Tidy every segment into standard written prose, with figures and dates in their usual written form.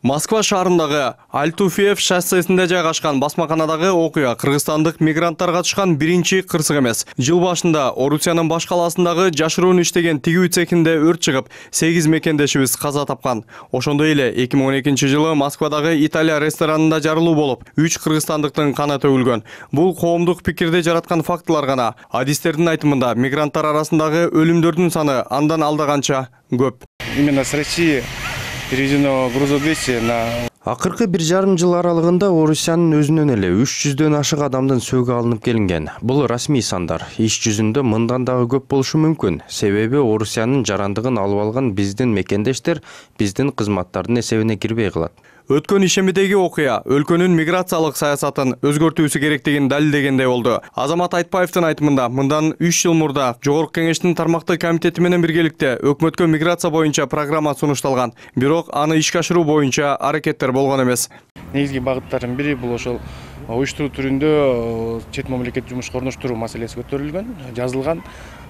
Москва шаарындагы Альтуфьев шоссесинде жайгашкан басмаканадагы окуя кыргызстандык мигранттар катышкан биринчи кырсык эмес. Жыл башында Орусиянын баш калаасындагы жашыруун иштеген тигүү цехинде өрт чыгып, 8 мекендешибиз каза тапкан. Ошондой эле 2012-жылы Москвадагы Италия ресторанында жарылуу болуп, 3 кыргызстандыктын каны төгүлгөн. Бул коомдук пикирди жараткан фактылар гана. Адистердин айтымында мигранттар арасындагы өлүмдөрдүн саны андан алдаганча көп. Именно с России переведено грузов 200 на... Акыркы 1,5 жыл аралыгында Орусиянын өзүнөн эле 300дөн ашык адамдын сөөгү алынып келинген. Бул расмий сандар. Иш жүзүндө мындан дагы көп болушу мүмкүн. Себеби Орусиянын жарандыгын алып алган биздин мекендештер биздин кызматтардын эсебине кирбей калат. Өткөн ишемидеги окуя өлкөнүн миграциялык саясатын өзгөртүүсү керектигин далилдегендей болду. Азамат Айтпаевдин айтымында, мындан 3 жыл мурда Жогорку Кеңештин тармактык комитети менен биргеликте өкмөткө миграция боюнча программа сунушталган. Бирок аны ишке ашыруу боюнча аракеттер болгон эмес. Негизги багыттардын бири бул ошол уюштуруу түрүндө чет мамлекет жумушка орноштуруу маселеси көтөрүлгөн, жазылган.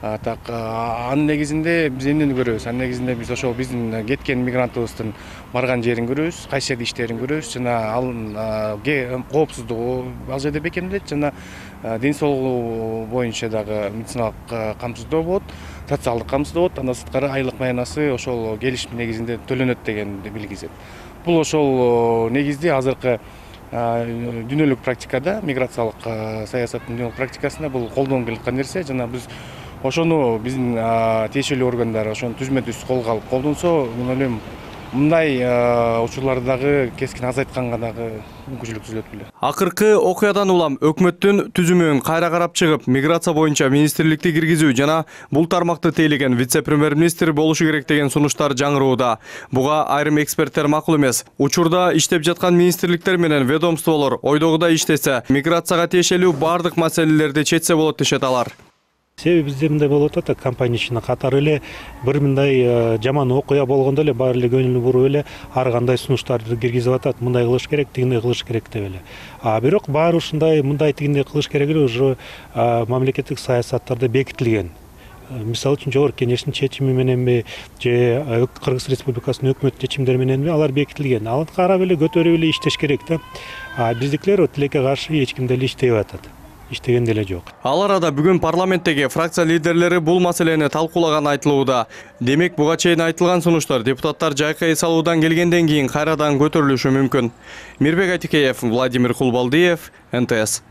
Так, анын негизинде биз эмнени көрөбүз? Анын негизинде биз ошол биздин кеткен мигрантыбыздын барган жерин көрөбүз, кайсы жерде иштерин көрөбүз, жана ал коопсуздугу ал жерде бекемделет, жана ден соолугу боюнча дагы медициналык камсыздоо болот, социалдык камсыздоо болот, андан сырткары айлык маянасы ошол келишим негизинде төлөнөт дегенди билгизет. Бул ошол негизде азыркы дүйнөлүк практикада, миграциялык саясаттын дүйнөлүк практикасында бул колдонуп келаткан нерсе, жана биз ошону биздин тиешелүү органдар ошону түзмө-түз колго алып колдонсо, мен ойлойм, мындай учурларды дагы кескин азайтканга дагы мүмкүнчүлүк түзүлөт беле. Акыркы окуядан улам өкмөттүн түзүмүн кайра карап чыгып, миграция боюнча министрликти киргизүү жана бул тармакты тейлеген вице-премьер-министр болушу керек деген сунуштар жаңырууда. Буга айрым эксперттер макул эмес. Учурда иштеп жаткан министрликтер менен ведомстволор ойдогудай иштесе, миграцияга тиешелүү бардык маселелерди чечсе болот дешет алар. Себеби бизде мындай болуп атат, компания ишине катары эле бир мындай жаман окуя болгондо эле баары эле көңүл буруп эле ар кандай сунуштарды киргизип атат. Мындай кылыш керек, тигиндей кылыш керек деп эле. Бирок баары ушундай мындай тигиндей кылыш керек эле уже мамлекеттик саясаттарда бекитилген. Мисалы үчүн Жогорку Кеңештин чечими мененби, же Кыргыз Республикасынын өкмөт чечимдери мененби алар бекитилген. Аны карап эле көтөрүп эле иштеш керек да. Биздикилер тилекке каршы эч ким деле иштебей атат. Иштеген деле жок. Ал арада бүгүн парламенттеги фракция лидерлери бул маселени талкуулаганы айтылууда. Демек, буга чейин айтылган сунуштар депутаттар жайкы эс алуудан келгенден кийин кайрадан көтөрүлүшү мүмкүн. Мирбек Айтикеев, Владимир Кулбалдиев, НТС.